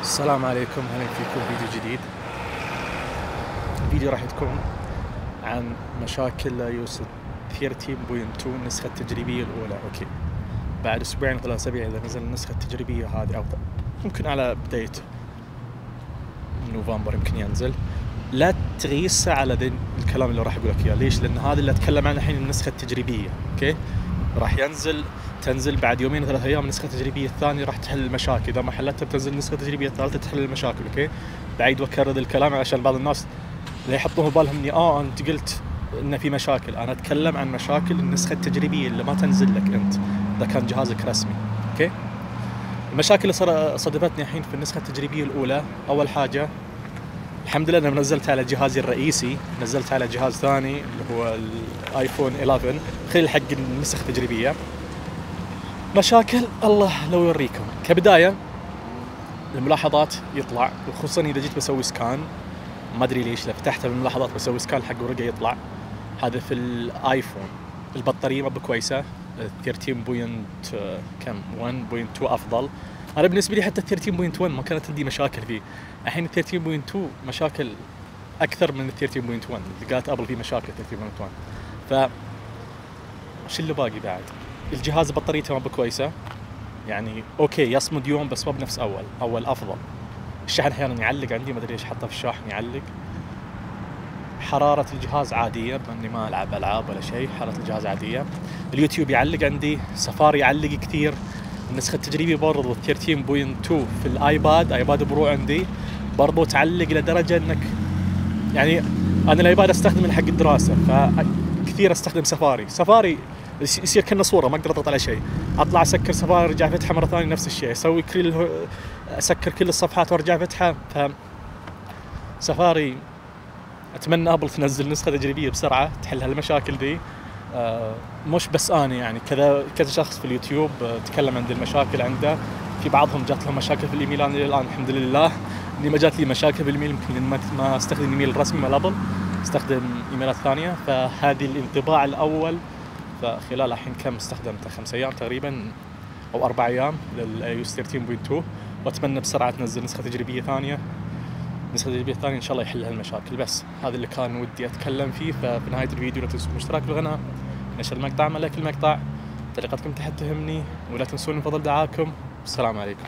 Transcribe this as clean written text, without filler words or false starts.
السلام عليكم، اهلا فيكم فيديو جديد. الفيديو راح تكون عن مشاكل iOS 13.2 النسخة التجريبية الأولى. أوكي، بعد أسبوعين 3 أسابيع إذا نزل النسخة التجريبية هذه، أو ممكن على بداية نوفمبر يمكن ينزل. لا تغيسه على ذي الكلام اللي راح أقول لك إياه. ليش؟ لأن هذا اللي أتكلم عنه الحين النسخة التجريبية. أوكي، راح تنزل بعد يومين 3 أيام النسخة التجريبية الثانية، راح تحل المشاكل. إذا ما حلتها بتنزل النسخة التجريبية الثالثة تحل المشاكل. أوكي، بعيد وأكرر الكلام عشان بعض الناس اللي يحطوه بالهم إني أنت قلت إن في مشاكل. أنا أتكلم عن مشاكل النسخة التجريبية اللي ما تنزل لك أنت إذا كان جهازك رسمي. أوكي، المشاكل اللي صدفتني الحين في النسخة التجريبية الأولى، أول حاجة الحمد لله أنا نزلت على جهازي الرئيسي، نزلت على جهاز ثاني اللي هو الآيفون 11 خلال حق النسخ التجريبية. مشاكل الله لو يوريكم. كبداية الملاحظات يطلع، وخصوصا إذا جيت بسوي سكان، ما أدري ليش لو فتحتها بالملاحظات بسوي سكان حق ورقة يطلع. هذا في الآيفون. البطارية ما بكويسة، 13.1.2 أفضل. أنا بالنسبة لي حتى 13.1 ما كانت عندي مشاكل فيه. الحين 13.2 مشاكل أكثر من 13.1 اللي قالت أبل فيه مشاكل 13.1. شو اللي باقي بعد؟ الجهاز بطاريته ما بكويسة، يعني أوكي يصمد يوم بس ما بنفس أول أفضل. الشحن أحيانا يعلق عندي، ما أدري ليش حطه في الشاحن يعلق. حرارة الجهاز عادية، بأني ما ألعب ألعاب ولا شيء، حرارة الجهاز عادية. اليوتيوب يعلق عندي، سفاري يعلق كثير. النسخة التجريبية برضو 13.2 في ايباد برو عندي برضو تعلق لدرجة انك يعني انا الايباد استخدمه حق الدراسة، فكثير استخدم سفاري يصير كأنه صورة ما اقدر اضغط على شيء. اطلع اسكر سفاري ارجع فتحة مرة ثانية نفس الشيء، اسوي اسكر كل الصفحات وارجع فتحة. سفاري اتمنى ابل تنزل نسخة تجريبية بسرعة تحل هالمشاكل دي. مش بس أنا، يعني كذا شخص في اليوتيوب تكلم عن المشاكل عنده. في بعضهم جات لهم مشاكل في الإيميل. أنا الآن الحمد لله إني ما جات لي مشاكل في الإيميل، يمكن ما استخدم الإيميل الرسمي مال أبل، استخدم إيميلات ثانية. فهذه الانطباع الأول. فخلال الحين كم استخدمته 5 أيام تقريبا أو 4 أيام للiOS 13.2، وأتمنى بسرعة تنزل نسخة تجريبية ثانية. النسخة التجريبية الثانية إن شاء الله يحل هالمشاكل. بس هذا اللي كان ودي أتكلم فيه. ففي نهاية الفيديو لا تنسوا الاشتراك بالقناة، نشر المقطع، لايك المقطع، تعليقاتكم تحت تهمني، ولا تنسون من فضل دعاكم. السلام عليكم.